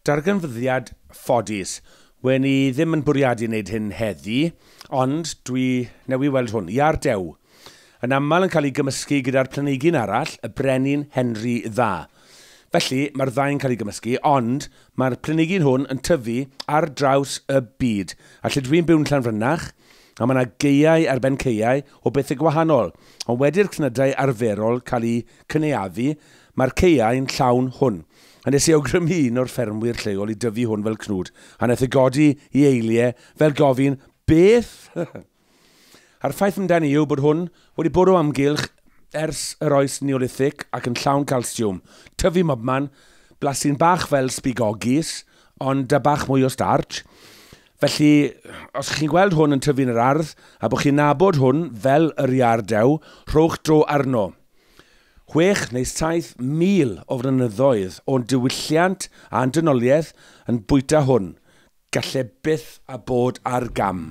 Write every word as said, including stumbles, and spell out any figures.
Darganfyddiad ffodus. Wen i ddim yn bwriadu wneud hyn heddi, ond dwi newi weld hwn, iâr dew. Yn aml yn cael ei gymysgu gyda'r planhigyn arall, y Brenin Henry Dda. Felly, mae'r ddau'n cael ei gymysgu, ond mae'r planhigyn hwn yn tyfu ar draws y byd. A lle dwi'n byw'n Llanfrynach, a mae yna gaeau ar ben caeau o bethau gwahanol. Ond wedi'r cnydau arferol cael eu cynaeafu, mae'r caeau'n llawn hwn. A nes i awgrymu un o'r ffermwyr lleol i dyfu hwn fel cnwd, a wnaeth e godi i eiliau fel gofyn, beth? A'r ffaith amdani yw bod hwn wedi bod o amgylch ers yr oes Neolithic ac yn llawn calsiwm. Tyfu mobman, blasu'n bach fel sbigogis, ond da bach mwy o starch. Felly, os chi'n gweld hwn yn tyfu yn yr ardd, a bod chi'n nabod hwn fel yr iâr dew, rhowch dro arno. Chwech neu saith mil o flynyddoedd o'n diwylliant a'n dynoliaeth yn bwyta hwn. Galle byth a bod ar gam.